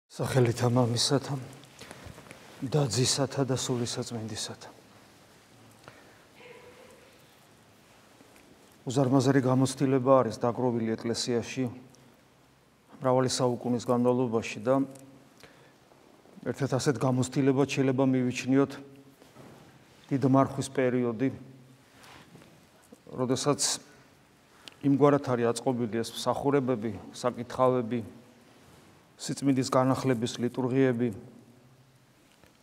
სახელითა მამისათა და ძისათა და სულისაწმინდისათა. უზარმაზარი გამოცდილება არის დაგროვილი ეკლესიაში მრავალი საუკუნის განმავლობაში და ერთ-ერთ ასეთ გამოცდილებად შეიძლება მივიჩნიოთ დიდმარხვის პერიოდი, როდესაც იმგვარად არის აწყობილი ეს მსახურებები, საკითხავები, სიწმინდის განახლების ლიტურგიები,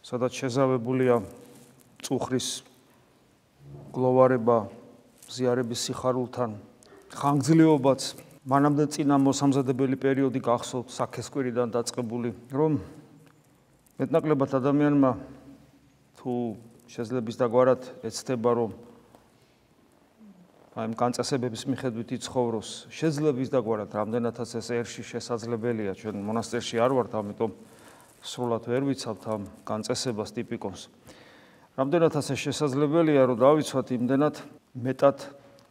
სადაც შეზავებულია წუხრის გლოვარება, ზიარების სიხარულთან, ხანგრძლივობაც, მანამდე წინა მოსამზადებელი პერიოდი გახსოვთ საქესკვირიდან დაწყებული, რომ მეტნაკლებად ადამიანმა თუ შეძლების დაგვარად ეცდება, რომ აი განწესებების მიხედვით იცხოვროს, შეძლების დაგვარად რამდენადაც ეს ერში შესაძლებელია, ჩვენ მონასტერში არ ვართ, ამიტომ სრულად ვერ ვიცავთ ამ განწესებას ტიპიკონს. რამდენადაც ეს შესაძლებელია, რომ დავიცვათ, იმდენად მეტად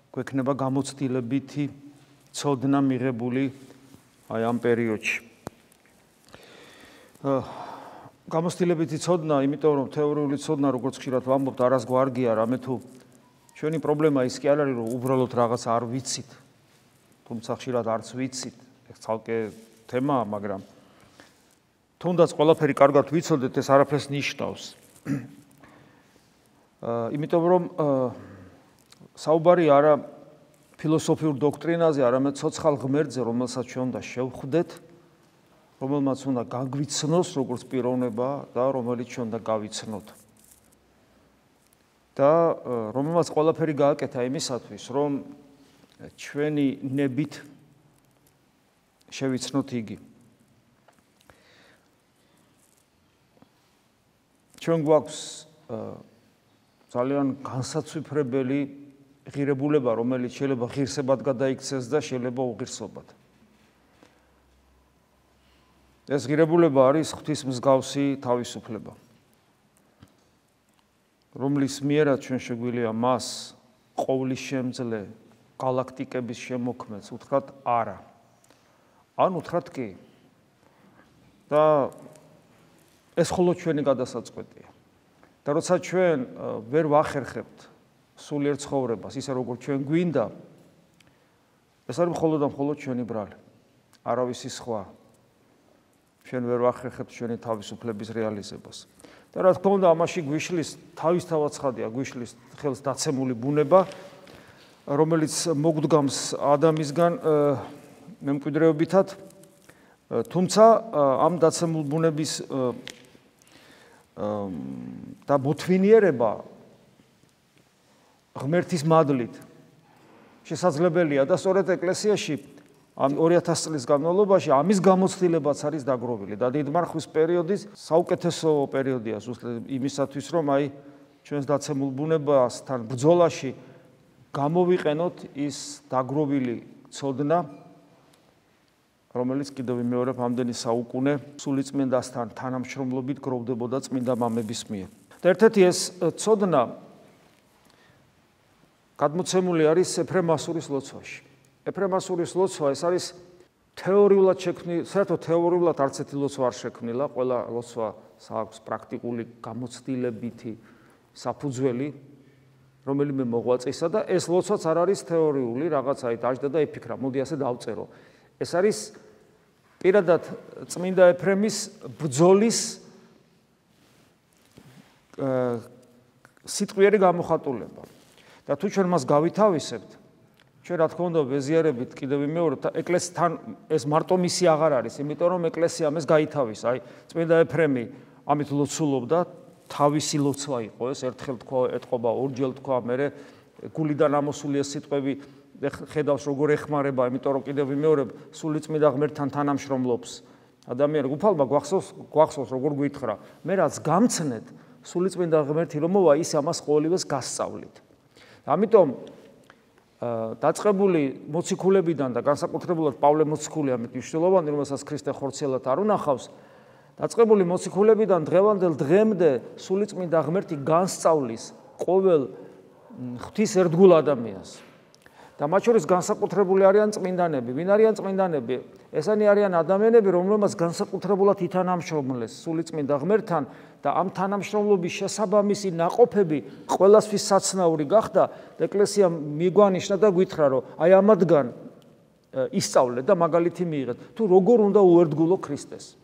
გვექნება გამოცდილებითი ცოდნა მიღებული აი ამ პერიოდში. გამოცდილებითი ცოდნა, იმიტომ რომ თეორიული ცოდნა, როგორც ხშირად ვამბობთ, არას გვარგია, რამე თუ ჩვენი პრობლემა ის კი არ არის, რომ უბრალოდ რაღაც არ ვიცით, თუმცა ხშირად არც ვიცით, ეს ცალკე თემაა, მაგრამ თუნდაც ყველაფერი კარგად ვიცოდეთ, ეს არაფერს ნიშნავს. იმიტომ რომ საუბარი არა ფილოსოფიურ დოქტრინაზე, არამედ ცოცხალ ღმერთზე, რომელსაც ჩვენ უნდა შევხვდეთ, რომელმაც უნდა გაგვიცნოს როგორც პიროვნება და რომელიც ჩვენ უნდა გავიცნოთ. და რომელმაც ყველაფერი გააკეთა იმისათვის, რომ ჩვენი ნებით შევიცნოთ იგი. ჩვენ გვაქვს ძალიან განსაცვიფრებელი ღირებულება, რომელიც შეიძლება ღირსებად გადაიქცეს და შეიძლება უღირსობად. ეს ღირებულება არის ღვთისმსგავსი თავისუფლება, რომლის მიერაც ჩვენ შეგვიძლია მას ყოვლის შემძლე galaktikების შემოქმედს უთხრათ არა. ან უთხრათ კი. და ეს მხოლოდ ჩვენი გადასაწყვეტია. და როცა ჩვენ ვერ ვახერხებთ სულიერ ცხოვრებას, ისე როგორც ჩვენ გვინდა, ეს არის მხოლოდ და მხოლოდ ჩვენი ბრალი. არავისი სხვა. ჩვენ ვერ ვახერხებთ ჩვენი თავისუფლების რეალიზებას. და რა თქმა უნდა, ამაში გვიშლის თავისთავად ცხადია, გვიშლის ხელს დაცემული ბუნება, რომელიც მოგვდგამს ადამიანისგან მემკვიდრეობითად, თუმცა ამ დაცემულ ბუნების და მოთვინიერება ღმერთის მადლით შესაძლებელია და სწორედ ეკლესიაში ამ 2000 წლის განმავლობაში ამის გამოცდილებაც არის დაგროვილი და დიდმარხვის პერიოდის საუკეთესო პერიოდია ზუსტად იმისათვის, რომ აი ჩვენს დაცემულ ბუნებასთან ბრძოლაში გამოვიყენოთ ის დაგროვილი ცოდნა, რომელიც კიდევ ვიმეორებ, ამდენი საუკუნე სულიწმინდასთან თანამშრომლობით გროვდებოდა წმინდა მამების მიერ. და ერთ-ერთი ეს ცოდნა გადმოცემული არის ეფრემასურის ლოცვაში. ეფრემასურის ლოცვა ეს არის თეორიულად შექმნილი, საერთოდ თეორიულად არც ერთი ლოცვა არ შექმნილა, ყველა ლოცვას აქვს პრაქტიკული გამოცდილებითი საფუძველი, რომელიმე მოღვაწეისა და ეს ლოცვაც არ არის თეორიული, რაღაცაით დაждდა და იფიქრა, მოდი ასე დავწერო. ეს არის პირადად წმინდა ეფრემის ბრძოლის სიტყვიერი გამოხატულება. და თუ ჩვენ მას გავითავისებთ, ჩვენ რა თქმა უნდა ვეზიარებით კიდევ ვიმეორებ, ეკლესითან ეს მარტო მისი აღარ არის, იმიტომ რომ ეკლესიამ ეს გაითავისა, აი წმინდა ეფრემი ამით ლოცულობდა, თავისი ლოცვა იყო ეს, ერთხელ თქვა, ეთყობა, ორჯერ თქვა, მერე გულიდან ამოსული ეს სიტყვები ხედავს როგორ ეხმარება, იმიტომ რომ კიდევ ვიმეორებ, სულიწმინდა ღმერთთან თანამშრომლობს ადამიანი, უფალმა გვახსოვს როგორ გვითხრა, მე რაც გამცნეთ, სულიწმინდა ღმერთი რომ მოვა, ის ამას ყოველივეს გასწავლით. ამიტომ დაწყებული მოციქულებიდან და განსაკუთრებულად პავლე მოციქული ამით მნიშვნელოვანი, რომელსაც ქრისტე ხორციელად არ უნახავს, დაწყებული მოციქულებიდან დღევანდელ დღემდე სულიწმინდა ღმერთი განსწავლის ყოველ ღვთის ერთგულ ადამიანს. და მათ შორის განსაკუთრებული არიან წმინდანები. ვინ არიან წმინდანები? ესენი არიან ადამიანები, რომლებმაც განსაკუთრებულად ითანამშრომლეს სული წმინდა ღმერთთან და ამ თანამშრომლობის შესაბამისი ნაყოფები ყველასთვის საცნაური გახდა და ეკლესია მიგვანიშნა და გითხრა, რომ აი ამათგან ისწავლეთ და მაგალითი მიიღეთ. თუ როგორ უნდა უერთგულო ქრისტეს.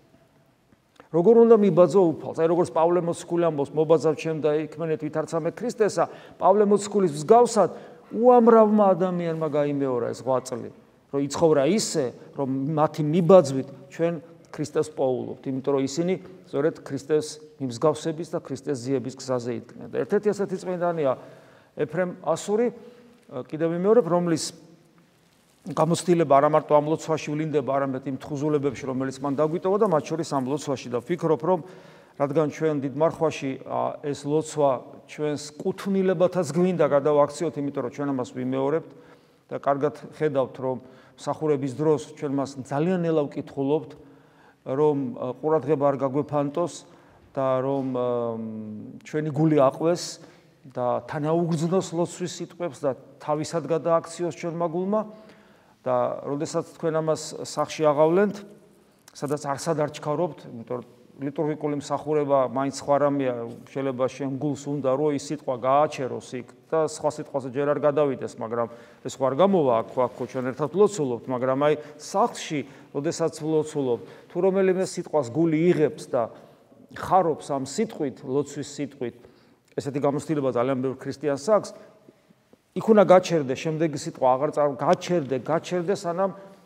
როგორ უნდა მიბაძო უფალს. აი როგორც პავლე მოციქული ამბობს, მობაძავ ჩემ და იქმენეთ ვითარცამე ქრისტესა, პავლე მოციქულის მსგავსად უამრავმა ადამიანმა გაიმეორა ეს 8 წელი, რომ იცხოვრა ისე, რომ მათი მიბაძვით ჩვენ ქრისტეს პოულობთ, იმიტომ რომ ისინი სწორედ ქრისტეს მიმსგავსების და ქრისტეს ძიების გზაზე იდგნენ. და ერთ-ერთი ასეთი წმინდანია ეფრემ ასური, კიდევ ვიმეორებ, რომლის გამოცდილება არა მარტო ამ ლოცვაში ვლინდება, არამედ იმ თხზულებებში, რომელიც მან დაგვიტოვა და მათ შორის ამ ლოცვაში და ვფიქრობ, რომ რადგან ჩვენ დიდ მარხვაში ეს ლოცვა ჩვენს კუთვნილებათაც გვინდა გადავაქციოთ, იმიტომ რომ ჩვენ ამას ვიმეორებთ და კარგად ხედავთ, რომ მსახურების დროს ჩვენ მას ძალიან ნელა ვკითხულობთ, რომ ყურადღება არ გაგვეფანტოს და რომ ჩვენი გული აყვეს და თანაუგრძნოს ლოცვის სიტყვებს და თავისად გადააქციოს ჩვენმა გულმა და როდესაც თქვენ ამას სახში აღავლენთ, სადაც არსად არ ჩქარობთ, იმიტომ რომ ლიტურგიკული მსახურება მაინც სხვა რამეა, შეიძლება შენ გულს უნდა რომ ის სიტყვა გააჩეროს იქ და სხვა სიტყვაზე ჯერ არ გადავიდეს, მაგრამ ეს ხო არ გამოვა აქ ჩვენ ერთად ვლოცულობთ, მაგრამ აი სახლში, როდესაც ვლოცულობთ, თუ რომელიმე სიტყვას გული იღებს და ხარობს ამ სიტყვით, ლოცვის სიტყვით, ესეთი გამოცდილება ძალიან ბევრ ქრისტიანს აქვს, იქ უნდა გაჩერდე შემდეგი სიტყვა აღარ გაჩერდე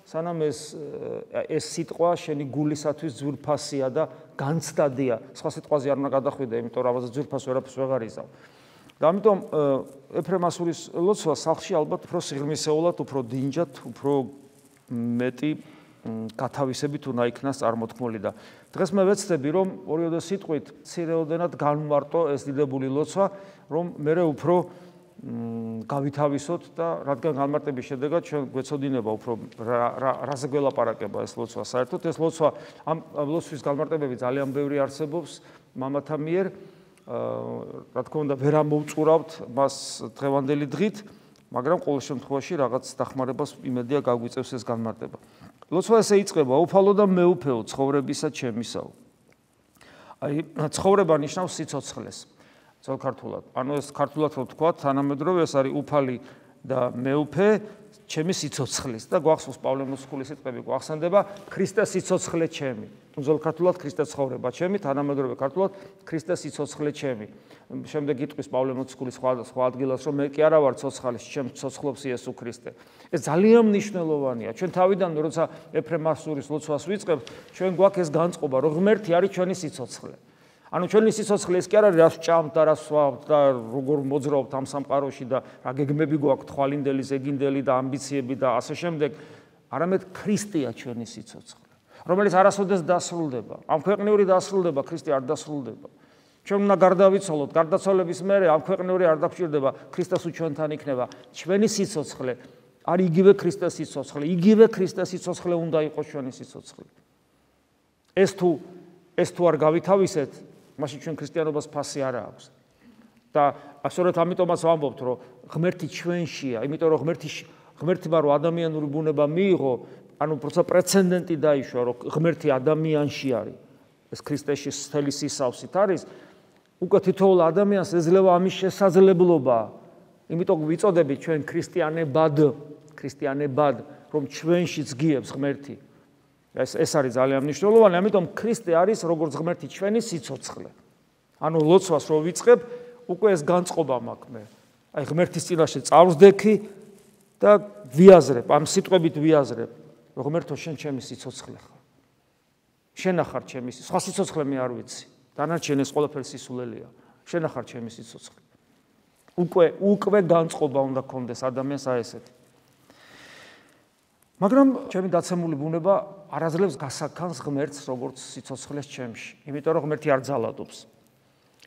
სანამ ეს სიტყვა შენი გულისათვის ძვირფასია და განცდადია. სხვა სიტყვაზე არ უნდა გადახვიდე, იმიტომ რომ ამაზე ძვირფას ვერაფერს ვეღარ იზავ. და ამიტომ ეფრემ ასურის ლოცვა სახლში ალბათ უფრო სიღრმისეულად, უფრო დინჯად, უფრო მეტი გათავისებით უნდა იქნას წარმოთქმული და დღეს მე ვეცდები, რომ ორიოდე სიტყვით მცირეოდენად განვმარტო ეს დიდებული ლოცვა, რომ მე უფრო გავითავისოთ და რადგან განმარტების შედეგად ჩვენ გვეცოდინება უფრო რაზე გველაპარაკება ეს ლოცვა საერთოდ. ეს ლოცვა ამ ლოცვის განმარტებები ძალიან ბევრი არსებობს მამათა მიერ, რა თქმა უნდა ვერ ამოვწურავთ მას დღევანდელი დღით, მაგრამ ყოველ შემთხვევაში რაღაც დახმარებას იმედია გაგვიწევს ეს განმარტება. ლოცვა ესე იწყება: უფალო და მეუფეო ცხოვრებისა ჩემისაო. აი ცხოვრება ნიშნავს სიცოცხლეს. ძველ ქართულად. ანუ ეს ქართულად რო თქვა, თანამედროვე ეს არის უფალი და მეუფე ჩემი სიცოცხლის და გვახსოვს პავლე მოციქულის სიტყვები გვახსენდება ქრისტეს სიცოცხლე ჩემი. ძველ ქართულად ქრისტეს ცხოვრება ჩემი, თანამედროვე ქართულად ქრისტეს სიცოცხლე ჩემი. შემდეგ იტყვის პავლე მოციქულის სხვა ადგილას, რომ მე კი არა ვარ ცოცხალი, ჩემ ცოცხლობს იესო ქრისტე. ეს ძალიან მნიშვნელოვანია. ჩვენ თავიდან როცა ეფრემ ასურის ლოცვას ვიწყებთ, ჩვენ გვაქვს ეს განწყობა, რომ ღმერთი არის ჩვენი სიცოცხლე. ანუ ჩვენი სიცოცხლე ეს კი არა რას ვჭამთ და რას ვსვამთ და როგორ მოძრაობთ ამ სამყაროში და რა გეგმები გვაქვს, თვალინდელი, ზეგინდელი და ამბიციები და ასე შემდეგ, არამედ ქრისტეა ჩვენი სიცოცხლე, რომელიც არასოდეს დასრულდება. ამ ქვეყნიური დასრულდება, ქრისტე არ დასრულდება. ჩვენ უნდა გარდავიცვალოთ, გარდაცვალების მერე ამ ქვეყნიური არ დაგჭირდება, ქრისტეს ჩვენთან იქნება. ჩვენი სიცოცხლე არის იგივე ქრისტეს სიცოცხლე, იგივე ქრისტეს სიცოცხლე უნდა იყოს ჩვენი სიცოცხლე. ეს თუ არ გავითავისეთ, მაშინ ჩვენ ქრისტიანობას ფასი არ აქვს. და სწორედ ამიტომაც ვამბობთ, რომ ღმერთი ჩვენშია, იმიტომ რომ ღმერთმა რო ადამიანური ბუნება მიიღო, ანუ პროცესა პრეცედენტი დაიშვა, რომ ღმერთი ადამიანში არის. ეს ქრისტეში მთელი სისავსით არის. უკვე თითოეულ ადამიანს ეძლევა ამის შესაძლებლობა. იმიტომ ვიწოდებით ჩვენ ქრისტიანებად, რომ ჩვენშიც გიებს ღმერთი. ეს არის ძალიან მნიშვნელოვანი, ამიტომ ქრისტე არის როგორც ღმერთი ჩვენი სიცოცხლე. ანუ ლოცვას რო ვიწყებ, უკვე ეს განწყობა მაქვს მე. აი ღმერთის წინაშე წავსდექი და ვიაზრებ, ამ სიტყვებით ვიაზრებ, რომ ღმერთო შენ ჩემი სიცოცხლე ხარ. შენ ახარ ჩემი, სხვა სიცოცხლე მე არ ვიცი. დანარჩენი ეს ყველაფერი სისულელია. შენ ახარ ჩემი სიცოცხლე. უკვე განწყობა უნდა გქონდეს ადამიანს აი ესეთი. მაგრამ ჩემი დაცემული ბუნება არაძლევს გასაქანს ღმერთს როგორც სიცოცხლეს ჩემში, იმიტომ რომ ღმერთი არ ძალადობს.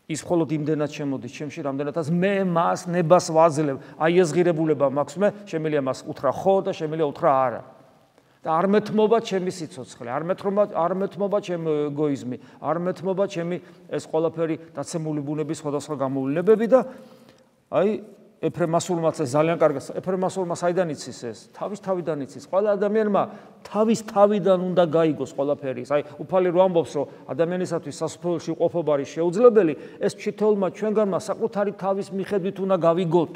ის მხოლოდ იმდენად შემოდის ჩემში, რამდენადაც მე მას ნებას ვაძლევ. აი ეს ღირებულება მაქვს მე, შემიძლია მას უთხრა ხო და შემიძლია უთხრა არა. და არ მეთმობა ჩემი სიცოცხლე, არ მეთმობა ჩემი ეგოიზმი, არ მეთმობა ჩემი ეს ყველაფერი დაცემული ბუნების სხვადასხვა გამოვლინებები და აი ეფრემასულმაც ძალიან კარგი. ეფრემასულმა საიდან იცის ეს? თავის თავიდან იცის. ყველა ადამიანმა თავის თავიდან უნდა გაიგოს ყველაფერი. აი, უფალი რო ამბობს, რომ ადამიანისათვის სასופველში ყოფობა არის შეუძლებელი, ეს თითოეულმა ჩვენგანმა საკუთარი თავის მიხედვით უნდა გავიგოთ.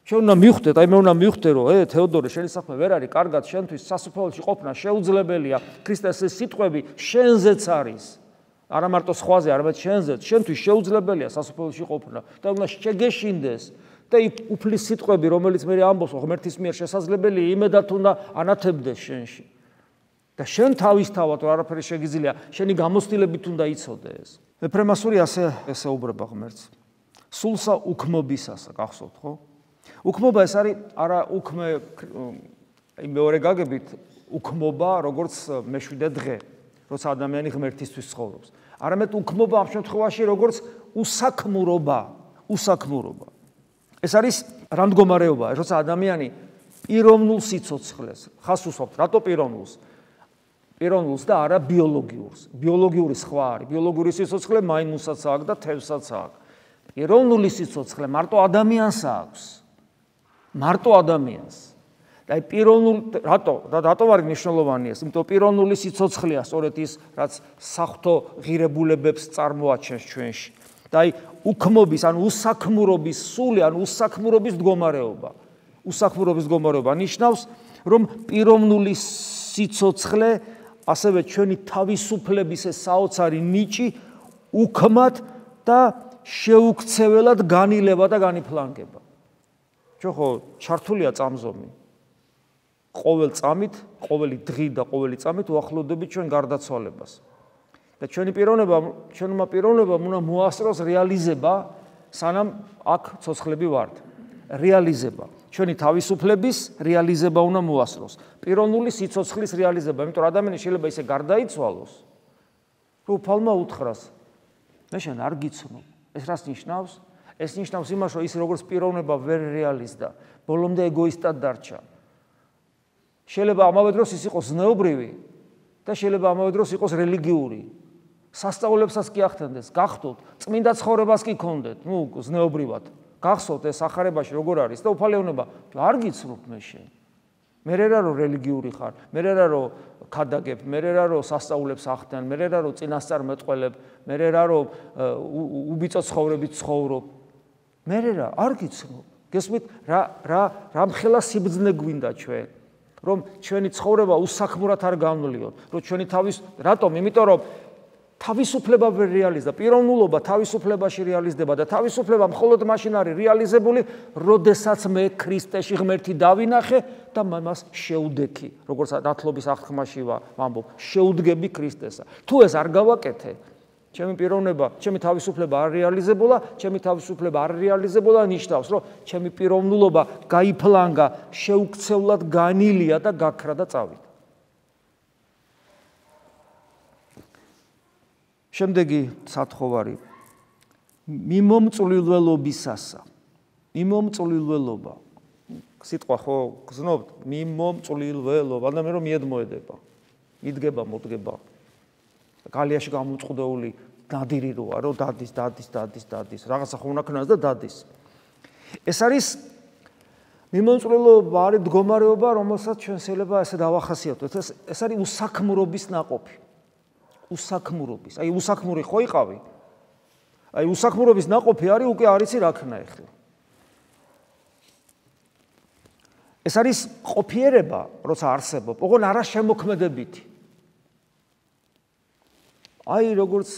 ჩვენ უნდა მივხვდეთ, აი მე უნდა მივხვდე, რომ თეოდორე, შენი საქმე ვერ არის კარგად, შენთვის სასופველში ყოფნა შეუძლებელია. ქრისტეს ეს სიტყვები შენზეც არის. არა მარტო სხვაზე, არამედ შენზეც, შენთვის შეუძლებელია სასופველში ყოფნა და უნდა შეგეშინდეს. და უფლის სიტყვები, რომელიც მე ამბობს, ღმერთის მიერ შესაძლებელია, იმედად უნდა ანათებდეს შენში. და შენ თავისთავად არაფერი შეგიძლია, შენი გამოცდილებით უნდა იცოდე ეს. ეფრემასური ასე უბრება ღმერთს. სულსა უქმობისასა, გახსოვთ, ხო? უქმობა ეს არის არა უქმე, აი მეორე გაგებით, უქმობა, როგორც მეშვიდე დღე, როცა ადამიანი ღმერთისთვის ცხოვრობს. არამედ უქმობა ამ შემთხვევაში როგორც უსაქმურობა, უსაქმურობა. ეს არის რა მდგომარეობაა, როცა ადამიანი პიროვნულ სიცოცხლეს ხას უსვამთ, რატო პიროვნულს? პიროვნულს და არა ბიოლოგიურს. ბიოლოგიური სხვა არის. ბიოლოგიური სიცოცხლე მაიმუნსაც აქვს და თევზსაც აქვს. პიროვნული სიცოცხლე მარტო ადამიანს აქვს. მარტო ადამიანს. და აი პიროვნულ რატო არის მნიშვნელოვანი ეს? იმიტომ პიროვნული სიცოცხლეა სწორედ ის, რაც საღვთო ღირებულებებს წარმოაჩენს ჩვენში. და აი უქმობის, ანუ უსაქმურობის სული, ანუ უსაქმურობის მდგომარეობა. უსაქმურობის მდგომარეობა ნიშნავს, რომ პიროვნული სიცოცხლე, ასევე ჩვენი თავისუფლების ეს საოცარი ნიჭი უქმად და შეუქცეველად განილება და განიფლანგება. ჩვენ ხო ჩართულია წამზომი. ყოველ წამით, ყოველი დღით და ყოველი წამით უახლოვდებით ჩვენ გარდაცვალებას. და ჩვენმა პიროვნებამ უნდა მოასწროს რეალიზება, სანამ აქ ცოცხლები ვართ. რეალიზება. ჩვენი თავისუფლების რეალიზება უნდა მოასწროს. პიროვნული სიცოცხლის რეალიზება, იმიტომ რომ ადამიანი შეიძლება ისე გარდაიცვალოს, რომ უფალმა უთხრას, მე შენ არ გიცნობ. ეს რას ნიშნავს? ეს ნიშნავს იმას, რომ ის როგორც პიროვნება ვერ რეალიზდა, ბოლომდე ეგოისტად დარჩა. შეიძლება ამავე დროს ის იყოს ზნეობრივი და შეიძლება ამავე დროს იყოს რელიგიური. სასწაულებსაც კი ახდენდეს, გახდოთ, წმინდა ცხოვრებას კი გქონდეთ, ზნეობრივად. გახსოვთ ეს ახარებაში როგორ არის და უფალი ეუბნება, არ გიცნობ მე შენ. მე რა რომ რელიგიური ხარ, მე რა რომ ქადაგებ, მე რა რომ სასწაულებს ახდენ, მე რა რომ წინასწარ მეტყველებ, მე რა რომ უბიწო ცხოვრებით ცხოვრობ. მე რა არ გიცნობ. გესმით რა მხელა სიბრძნე გვინდა ჩვენ, რომ ჩვენი ცხოვრება უსაქმურად არ განვლიოთ, რომ ჩვენი რატომ? იმიტომ რომ თავისუფლება ვერ რეალიზდა, პიროვნულობა თავისუფლებაში რეალიზდება და თავისუფლება მხოლოდ მაშინ არის რეალიზებული, როდესაც მე ქრისტეში ღმერთი დავინახე და მას შეუდექი, როგორც ნათლობის აღთქმაში ვამბობ, შეუდგები ქრისტესა. თუ ეს არ გავაკეთე, ჩემი პიროვნება, ჩემი თავისუფლება არ რეალიზებულა, ჩემი თავისუფლება არ რეალიზებულა, ნიშნავს, რომ ჩემი პიროვნულობა გაიფლანგა, შეუქცევლად განილია და გაქრა და წავიდა. შემდეგი სათხოვარი მიმომწვლილველობისასა. მიმომწვლილველობა. სიტყვა ხო გზნობთ? მიმომწვლილველობა. და მე რომ მიედმოედება. იდგება, მოდგება. გალიაში გამოწყდეული ნადირი როა, რომ დადის. რაღაცა ხო უნდა ქნას და დადის. ეს არის მიმომწვლილობა არის მდგომარეობა, რომელსაც ჩვენ შეიძლება ესე დავახასიათოთ. ეს არის უსაქმრობის ნაყოფი. უსაქმრობის. აი უსაქმური ხო იყავი? აი უსაქმრობის ნაყოფი არის უკვე არიცი რა ქნა ეხლა. ეს არის ყოფიერება, როცა არსებობ, ოღონ არა შემოქმედებითი. აი როგორც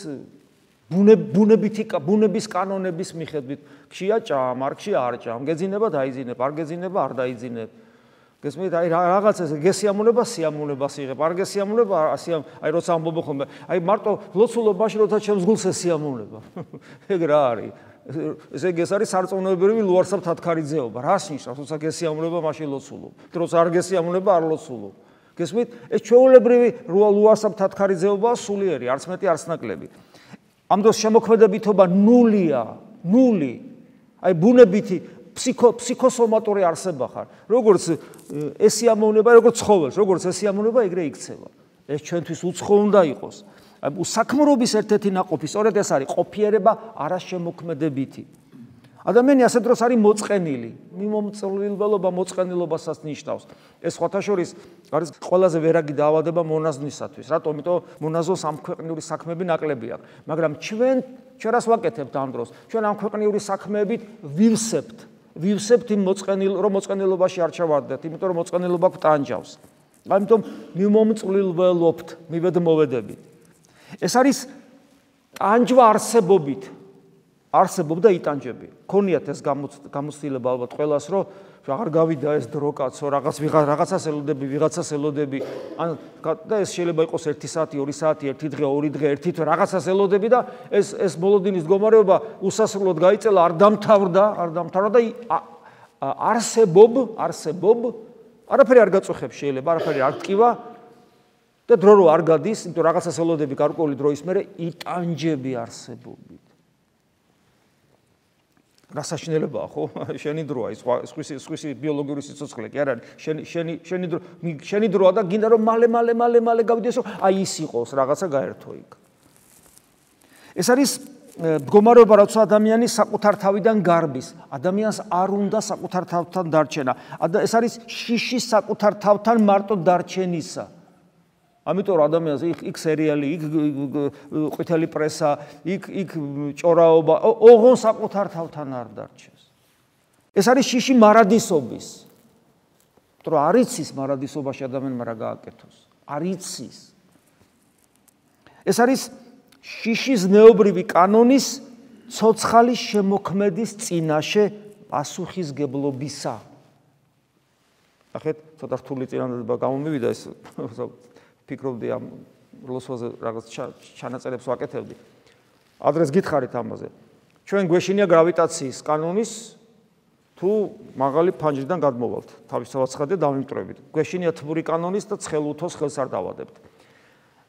ბუნების კანონების მიხედვით, ქშია ჭამ, არ ქშია არ ჭამ, გეძინება დაიძინებ, არ გეძინება არ დაიძინებ. გესმით, აი რაღაცა გესიამუნება, სიამუნებას იღებ, არ გესიამუნება, აი როცა ამბობ ხოლმე, აი მარტო ლოცულობაში როცა ჩემს გულს ესიამუნება. ეგ რა არის? ეს არის სარწმუნოებრივი ლუარსაბ თათქარიძეობა. რას ნიშნავს, როცა გესიამუნება, მაშინ ლოცულობ. როცა არ გესიამუნება, არ ლოცულობ. გესმით, ეს ჩვეულებრივი ლუარსაბ თათქარიძეობაა სულიერი, არც მეტი, არც ნაკლები. ამ დროს შემოქმედებითობა ნულია, ნული. აი ბუნებითი ფსიქოსომატური არსება ხარ. როგორც ესიამოვნება, როგორც ცხოველს, როგორც ესიამოვნება, ეგრე იქცევა. ეს ჩვენთვის უცხო უნდა იყოს. საქმრობის ერთ-ერთი ნაყოფი სწორედ ეს არის ყოფიერება არაშემოქმედებითი. ადამიანი ასე დროს არის მოწყენილი. მიმომწვილველობა მოწყენილობასაც ნიშნავს. ეს სხვათა შორის არის ყველაზე ვერაგი დაავადება მონაზვნისათვის. რატომ? იმიტომ მონაზონს ამ ქვეყნიური საქმეები ნაკლები აქვს. მაგრამ ჩვენ რას ვაკეთებთ ამ დროს? ჩვენ ამ ქვეყნიური საქმეებით ვივსებთ იმ მოწყენილობაში არ ჩავარდეთ, იმიტომ რომ მოწყენილობა გვტანჯავს. ამიტომ მიმომწვილველობთ, მივედმოვედებით. ეს არის ტანჯვა არსებობდა იტანჯები. ქონიათ ეს გამოცდილება ალბათ ყველას, რომ აღარ გავიდა ეს დრო კაცო, რაღაცას ელოდები, ან და ეს შეიძლება იყოს 1 საათი, 2 საათი, 1 დღე, 2 დღე, 1 თვე რაღაცას ელოდები და ეს ბოლოდინის მდგომარეობა უსასრულოდ გაიწელა, არ დამთავრდა და არსებობ არაფერი არ გაწუხებს შეიძლება, არაფერი არ ტკივა და დრო რო არ გადის, იმიტომ რაღაცას ელოდები გარკვეული დროის მერე იტანჯები არსებობით. რა საშინელებაა, ხო? შენი დროა ის სხვისი ბიოლოგიური სიცოცხლე კი არ არის. შენი დროა და გინდა რომ მალე გავიდეს, რომ აი ის იყოს, რაღაცა გაერთო იქ. ეს არის მდგომარეობა, როცა ადამიანი საკუთარ თავიდან გარბის. ადამიანს არ უნდა საკუთარ თავთან დარჩენა. ეს არის შიში საკუთარ თავთან მარტო დარჩენისა. ამიტომ ადამიანს იქ სერიალი, იქ ყვითელი პრესა, იქ ჭორაობა, ოღონ საკუთარ თავთან არ დარჩეს. ეს არის შიში მარადისობის. იმიტომ რომ არ იცის მარადისობაში ადამიანმა რა გააკეთოს. არ იცის. ეს არის შიში ზნეობრივი კანონის ცოცხალის შემოქმედის წინაშე პასუხისგებლობისა. ახეთ ცოტა რთული წინადადება გამომივიდა ეს ფიქრობდი ამ როლოსვაზე რაღაც ჩანაწერებს ვაკეთებდი. ადრეს გითხარით ამაზე. ჩვენ გვეშინია გრავიტაციის კანონის თუ მაღალი ფანჯრიდან გადმოვალთ. თავისთავად ცხადია დავიმტრევით. გვეშინია თბური კანონის და ცხელუთოს ხელს არ დავადებთ.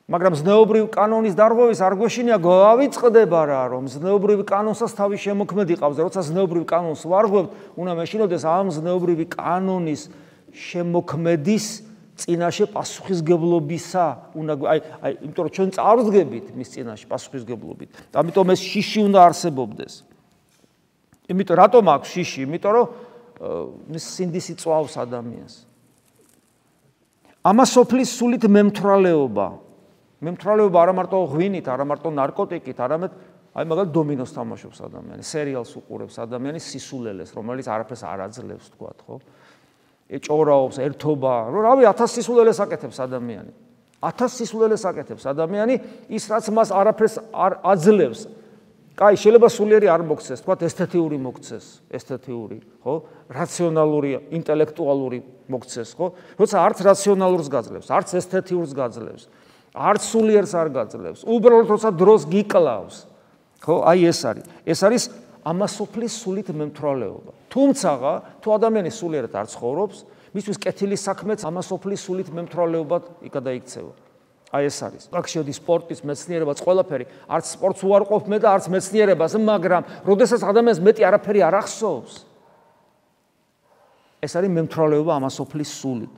მაგრამ ზნეობრივ კანონის დარღვევის არ გვეშინია გავიწყდება რა, რომ ზნეობრივი კანონსაც თავის შემოქმედი ყავს. როცა ზნეობრივ კანონს ვარღვევთ, უნდა მეშინოდეს ამ ზნეობრივი კანონის შემოქმედის წინაშე პასუხისგებლობისა, იმიტომ რომ ჩვენ წარვდგებით მის წინაშე პასუხისგებლობით. ამიტომ ეს შიში უნდა არსებობდეს. იმიტომ რატომ აქვს შიში? იმიტომ რომ მის სინდისი წვავს ადამიანს. ამას სოფლის სულით მემთვრალეობა არა მარტო ღვინით, არა მარტო ნარკოტიკით, არამედ მაგალითად დომინოს თამაშობს ადამიანი, სერიალს უყურებს ადამიანი სისულელეს, რომელიც არაფერს არ აძლევს, თქვათ, ხო? ჭორაობს, ერთობა, რავი, 1000 სისულელეს აკეთებს ადამიანი. 1000 სისულელეს აკეთებს ადამიანი, ის რაც მას არაფერს არ აძლევს. კაი, შეიძლება სულიერი არ მოგცეს, თქვათ, ესთეტიური მოგცეს, ხო? რაციონალური, ინტელექტუალური მოგცეს, ხო? როცა არც რაციონალურს გაძლევს, არც ესთეტიურს გაძლევს, არც სულიერს არ გაძლევს. უბრალოდ როცა დროს გიკლავს, ხო? აი ეს არის ამასოფლის სულით მემთვრალეობა. თუმცა თუ ადამიანი სულიერად არ ცხოვრობს, მისთვის კეთილის საქმეც ამასოფლის სულით მემთვრალეობად იქცევა. აი ეს არის. აქ შედის სპორტის, მეცნიერებაც, ყველაფერი. არც სპორტს უარყოფ მე და არც მეცნიერებას, მაგრამ როდესაც ადამიანს მეტი არაფერი არ ახსოვს, ეს არის მემთვრალეობა ამასოფლის სულით.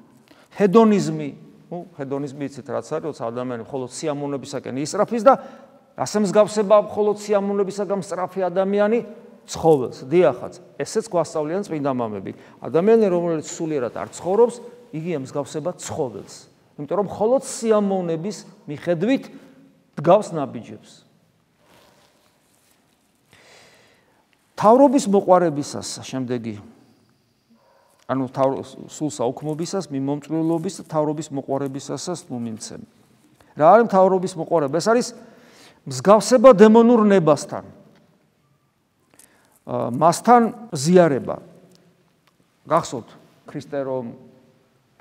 ჰედონიზმი იცით რაც არის, როცა ადამიანი მხოლოდ სიამოვნებისაკენ ისწრაფის და ასე მსგავსება მხოლოდ სიამოვნებისაგან სწრაფი ადამიანი ცხოვრობს. დიახაც, ესეც გვასწავლიან წმინდა მამები. ადამიანი, რომელიც სულიერად არ ცხოვრობს, იგი მსგავსება ცხოველს. იმიტომ რომ მხოლოდ სიამოვნების მიხედვით დგავს ნაბიჯებს. თავრობის მოყვარებისას შემდეგი ანუ სულ საუქმობისას, მიმომწვილობის და თავრობის მოყვარებისასაც მომიმცემ. რა არის თავრობის მოყვარება? ეს არის მსგავსება დემონურ ნებასთან. მასთან ზიარება. გახსოვთ,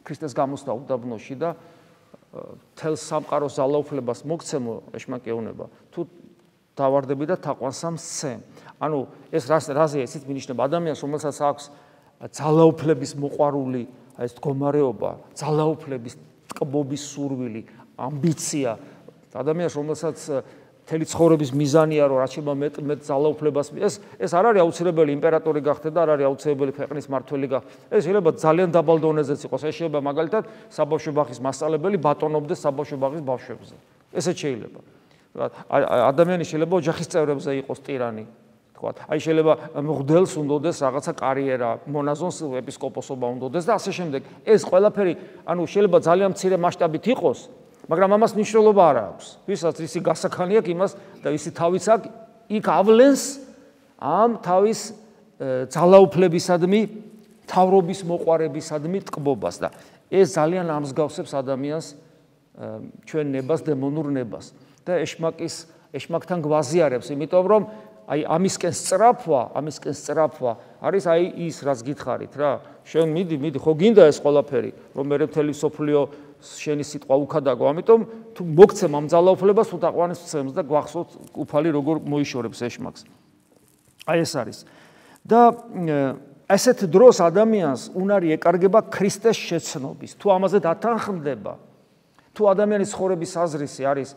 ქრისტეს გამოსვლა უდაბნოში და თელ სამყაროს ძალაუფლებას მოგცემო ეშმაკეუნება. თუ დავარდები და თაყვანსა მსცემ. ანუ ეს რაზეა ესეც მინიშნება ადამიანს, რომელსაც აქვს ძალაუფლების მოყვარული ეს მდგომარეობა, ძალაუფლების ტკბობის სურვილი, ამბიცია, ადამიანს, რომელსაც მთელი ცხოვრების მიზანია, რომ რაც შეიძლება მეტ ძალაუფლებას ეს არ არის აუცილებელი იმპერატორი გახდე და არ არის აუცილებელი ქვეყნის მმართველი გახდე. ეს შეიძლება ძალიან დაბალ დონეზეც იყოს. ეს შეიძლება მაგალითად საბავშვო ბაღის მასწავლებელი ბატონობდეს საბავშვო ბაღის ბავშვებზე. ესეც შეიძლება. ადამიანი შეიძლება ოჯახის წევრებზე იყოს ტირანი. თქვა. აი შეიძლება მღვდელს უნდოდეს რაღაცა კარიერა, მონაზონს ეპისკოპოსობა უნდოდეს და ასე შემდეგ. ეს ყველაფერი, ანუ შეიძლება ძალიან მცირე მასშტაბით იყოს, მაგრამ ამას მნიშვნელობა არ აქვს. ვისაც ისი გასახანი აქვს იმას და ისი თავიც აქვს, იქ ავლენს ამ თავის ძალაუფლებისადმი, თავრობის მოყვარებისადმი ტკბობას და ეს ძალიან ამსგავსებს ადამიანს ჩვენ ნებას, დემონურ ნებას და ეშმაკთან გვაზიარებს, იმიტომ რომ აი ამისკენ სწრაფვა არის აი ის, რაც გითხარით რა. შენ მიდი, ხო გინდა ეს ყველაფერი, რომ მე მთელი სოფლიო შენი სიტყვა უქადაგო, ამიტომ თუ მოგცემ ამ ძალაუფლებას, თუ დაყვანეს ცემს და გვახსოვთ უფალი როგორ მოიშორებს ეშმაკს. აი ეს არის. და ასეთ დროს ადამიანს უნარი ეკარგება ქრისტეს შეცნობის. თუ ამაზე დათანხმდება, თუ ადამიანის ცხოვრების აზრისი არის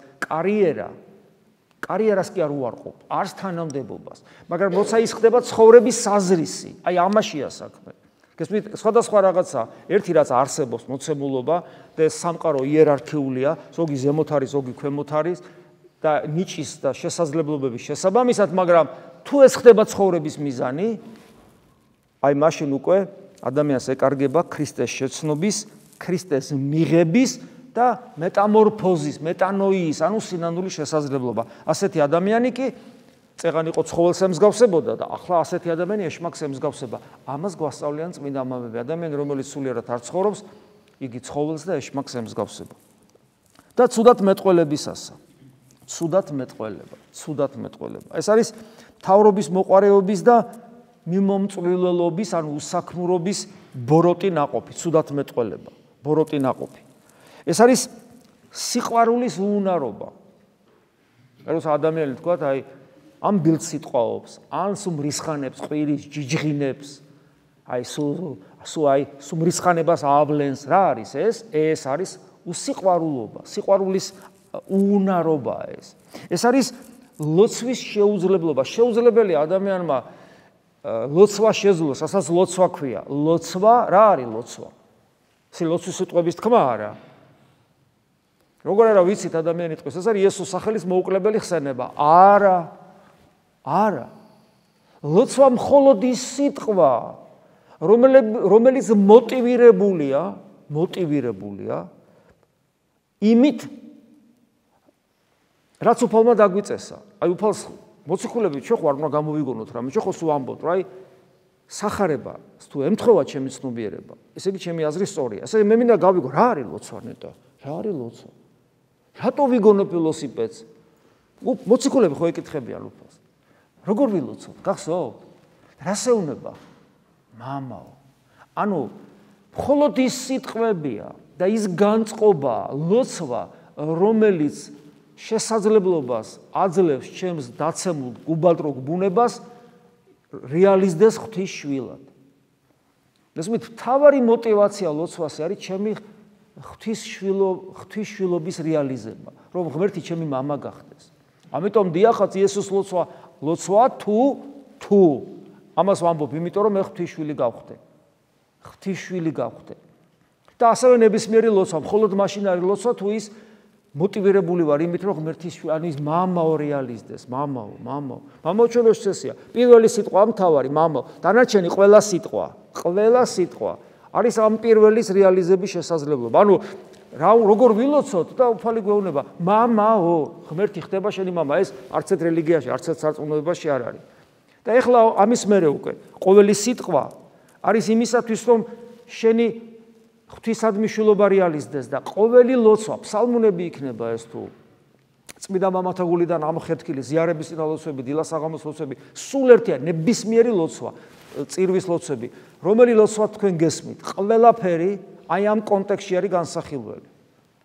კარიერას კი არ უარყოფ, არც თანამდებობას, მაგრამ როცა ის ხდება ცხოვრების აზრისი, აი ამაშია საქმე. გესმით, სხვადასხვა რაღაცა, ერთი რაც არსებობს მოცემულობა და სამყარო იერარქიულია, ზოგი ზემოთ არის, ზოგი ქვემოთ არის და ნიჭის და შესაძლებლობების შესაბამისად, მაგრამ თუ ეს ხდება ცხოვრების მიზანი, აი მაშინ უკვე ადამიანს ეკარგება ქრისტეს შეცნობის, ქრისტეს მიღების და მეტამორფოზის, მეტანოიის, ანუ სინანული შესაძლებლობა. ასეთი ადამიანი კი წეღან იყო ცხოველს ემსგავსებოდა და ახლა ასეთი ადამიანი ეშმაკს ემსგავსება. ამას გვასწავლიან წმინდა მამები. ადამიანი, რომელიც სულიერად არ ცხოვრობს, იგი ცხოველს და ეშმაკს ემსგავსება. და ცუდად მეტყველებისასა. ცუდად მეტყველება. ეს არის თავრობის მოყვარეობის და მიმომწვრილელობის, ანუ უსაქმურობის ბოროტი ნაყოფი, ცუდად მეტყველება, ბოროტი ნაყოფი. ეს არის სიყვარულის უუნარობა. როცა ადამიანი თქვა, აი ამ ბილდს სიტყვაობს, ან სულ მრისხანებს, ყვირის, ჯიჯღინებს, აი სულ მრისხანებას ავლენს, რა არის ეს? ეს არის უსიყვარულობა, სიყვარულის უუნარობა ეს. ეს არის ლოცვის შეუძლებლობა. შეუძლებელია ადამიანმა ლოცვა შეძლოს, ასაც ლოცვა ქვია. ლოცვა, რა არის ლოცვა? ეს ლოცვის სიტყვების თქმა არა. როგორ არა ვიცით ადამიანი ტყვის, ეს არის იესოს სახელის მოუკლებელი ხსენება. არა. ლოცვა მხოლოდ ის სიტყვა, რომელიც მოტივირებულია იმით, რაც უფალმა დაგვიწესა. აი უფალს მოციქულები ჩვენ ხარ უნდა გამოვიგონოთ რამე, ჩვენ ხო სულ ამბობთ, რა აი სახარება, თუ ემთხოვა ჩემი ცნობიერება, ესე იგი ჩემი აზრი სწორია. ესე მე მინდა გავიგო, რა არის ლოცვა ნეტა? რა არის ლოცვა? რატო ვიგონებ ველოსიპედს? მოციქულები ხო ეკითხებიან უფალს. როგორ ვილოცოთ? გახსოვთ? რას ეუბნება? მამაო. ანუ მხოლოდ ის სიტყვებია და ის განწყობა, ლოცვა, რომელიც შესაძლებლობას აძლევს ჩემს დაცემულ გუბალტროგ ბუნებას რეალიზდეს ღვთისშვილად. ესმით, თავარი мотиваცია ლოცვას არის ჩემი ღვთისშვილობის რეალიზება, რომ ღმერთი ჩემი მამა გახდეს. ამიტომ დიახაც იესოს ლოცვა თუ ამას ვამბობ, იმიტომ რომ მე ღვთისშვილი გავხდე. და ასევე ნებისმიერი ლოცვა, მხოლოდ მაშინ არის ლოცვა, თუ ის მოტივირებული ვარ იმით, რომ ღმერთის ანუ ის მამაო რეალიზდეს, მამაო ჩვენს წესია. პირველი სიტყვა მთავარი, მამაო, დანარჩენი ყველა სიტყვა არის ამ პირველის რეალიზების შესაძლებლობა. ანუ როგორ ვილოცოთ და უფალი გვეუბნება, მამაო, ღმერთი ხდება შენი მამა, ეს არც ერთ რელიგიაში, არც ერთ სარწმუნოებაში არ არის. და ეხლა ამის მერე უკვე ყოველი სიტყვა არის იმისათვის, რომ შენი ღვთისადმი შვილობა რეალიზდეს და ყოველი ლოცვა, ფსალმუნები იქნება ეს თუ წმინდა მამათა გულიდან ამხეთქილი ზიარების წინა ლოცვები, დილას საღამოს ლოცვები, სულ ერთია ნებისმიერი ლოცვა, წირვის ლოცვები, რომელი ლოცვა თქვენ გესმით, ყველაფერი აი ამ კონტექსტში არის განსახილველი.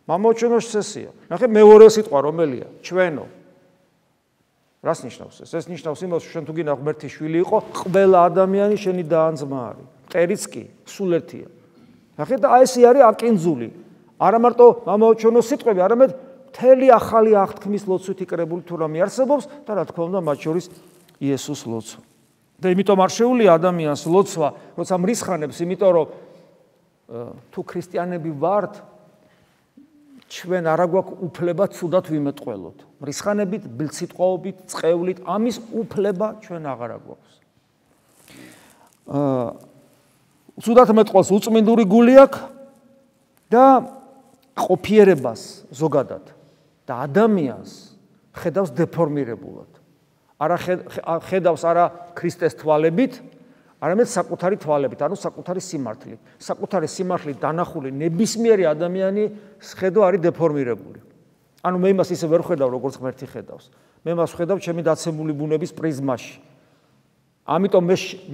მამაო ჩვენო წესია. ნახე მეორე სიტყვა რომელია? ჩვენო. რას ნიშნავს ეს? ეს ნიშნავს იმას, რომ შენ თუ გინდა ღმერთის შვილი იყო, ყველა ადამიანი შენი და ან ძმა არის. მტერიც კი, სულ ერთია. ნახეთ და ეს არის აკინძული. არა მარტო მამაო ჩვენო სიტყვები, არამედ მთელი ახალი აღთქმის ლოცვით იკრებული თუ რამე არსებობს და რა თქმა უნდა მათ შორის იესოს ლოცვა. და იმიტომ არ შეუძლია ადამიანს ლოცვა, როცა მრისხანებს, იმიტომ რომ თუ ქრისტიანები ვართ, ჩვენ არა გვაქვს უფლება ცუდად ვიმეტყველოთ. მრისხანებით, ბილსიტყვაობით, წყევლით, ამის უფლება ჩვენ აღარ გვაქვს. ცუდად მეტყველს უწმინდური გული აქვს და ყოფიერებას ზოგადად და ადამიანს ხედავს დეფორმირებულად. არა ხედავს არა ქრისტეს თვალებით, არამედ საკუთარი თვალებით, ანუ საკუთარი სიმართლით. საკუთარი სიმართლით დანახული ნებისმიერი ადამიანი ხედვა არის დეფორმირებული. ანუ მე იმას ისე ვერ ხედავ, როგორც ღმერთი ხედავს. მე მას ხედავ ჩემი დაცემული ბუნების პრიზმაში. ამიტომ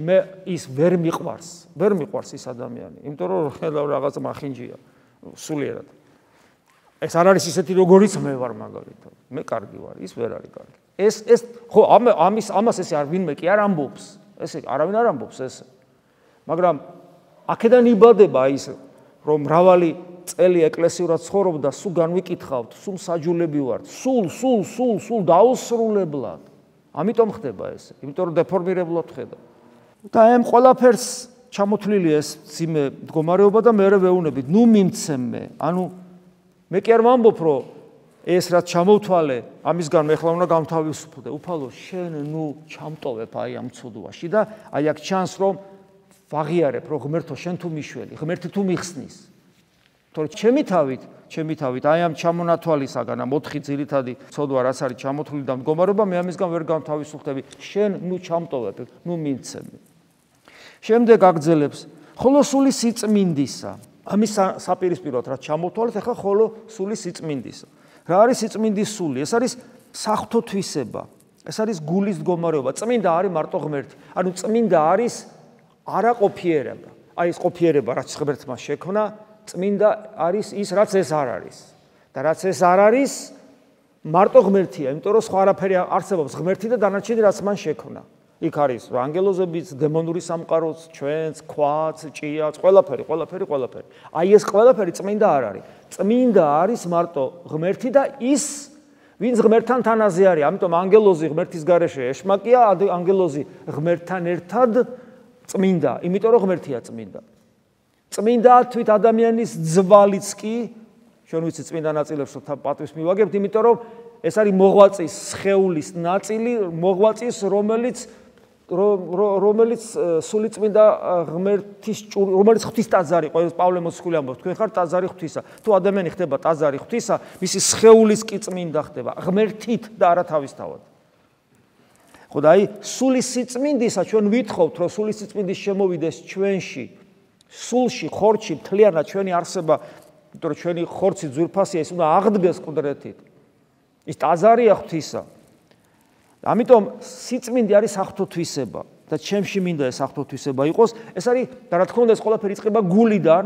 მე ის ვერ მიყვარს ის ადამიანი. იმიტომ რომ ხედავ რაღაც მახინჯია, სულიერად. ეს არ არის ისეთი როგორიც მე ვარ მაგალითად. მე კარგი ვარ, ის ვერ არის კარგი. ეს ხო ამას ესე არ ვინმე კი არ ამბობს. ესე არავინ არ ამბობს ესე. მაგრამ აქედან იბადება ის რომ მრავალი წელი ეკლესიურად ცხოვრობ და სულ განვიკითხავთ, სულ საჯულები ვართ, სულ დაუსრულებლად. ამიტომ ხდება ესე. იმიტომ რომ დეფორმირებლად ხედავ. და ამ ყველაფერს ჩამოთვლილი ეს ძიმე მდგომარეობა და მე ვეუბნებით, ნუ მიმცემე. ანუ მე კი არ ვამბობ რომ ეს რაც ჩამოვთვალე, ამისგან მე ხლა უნდა გამთავისუფლდე. უფალო, შენ ნუ ჩამტოვებ აი ამ ცუდვაში და აი აქ ჩანს რომ ვაღიარებ რომ ღმერთო შენ თუ მიშველი, ღმერთი თუ მიხსნის. თორე ჩემი თავით აი ამ ჩამონათვალისაგან ამ 4 ძირითადი ცოდვა რაც არის ჩამოთვლილი და მდგომარეობა, მე ამისგან ვერ გამთავისუფლდები. შენ ნუ ჩამტოვებ, ნუ მიმცემე. შემდეგ აგძელებს ხოლო სული სიწმინდისა. ამის საპირისპიროდ რაც ჩამოვთვალეთ, ახლა ხოლო სული სიწმინდისა. რა არის სიწმინდის სული? ეს არის საღვთო-თვისება. ეს არის გულის მდგომარეობა. წმინდა არის მარტო ღმერთი. ანუ წმინდა არის არაყოფიერება. აი ეს ყოფიერება რაც ღმერთმა შექმნა, წმინდა არის ის რაც ეს არ არის. და რაც ეს არ არის, მარტო ღმერთია, იმიტომ რომ სხვა არაფერი არსებობს ღმერთი და დანარჩენი რაც მან შექმნა. იქ არის ანგელოზებიც, დემონური სამყაროც, ჩვენც, ქვაც, ჭიაც, ყველაფერი. აი ეს ყველაფერი წმინდა არ არის. წმინდა არის მარტო ღმერთი და ის, ვინც ღმერთთან თანაზე არის. ამიტომ ანგელოზი ღმერთის გარეშე ეშმაკია, ანგელოზი ღმერთთან ერთად წმინდა, იმიტომ რომ ღმერთია წმინდა. წმინდა თვით ადამიანის ძვალიც კი, ჩვენ ვიცით წმინდა ნაწილებს პატვის მივაგებთ, იმიტომ რომ ეს არის მოღვაწის სხეულის ნაწილი, მოღვაწის რომელიც სული წმინდა ღმერთის რომელიც ღვთის ტაძარი, პავლე მოციქული ამბობს, თქვენ ხართ ტაძარი ღვთისა. თუ ადამიანი ხდება ტაძარი ღვთისა, მისი სხეულის კი წმინდა ხდება, ღმერთით და არა თავისთავად. ხო და აი სულის სიწმინდისა ჩვენ ვითხოვთ, რომ სულის სიწმინდის შემოვიდეს ჩვენში, სულში, ხორცში, მთლიანად ჩვენი არსება, იმიტომ რომ ჩვენი ხორცი ძვირფასია, ის უნდა აღდგეს ყდრეთით. ის ტაძარია ღვთისა. ამიტომ სიწმინდე არის საღვთო-თვისება და ჩემში მინდა ეს საღვთო-თვისება იყოს. ეს არის და რა თქმა უნდა ეს ყველაფერი იწყება გულიდან.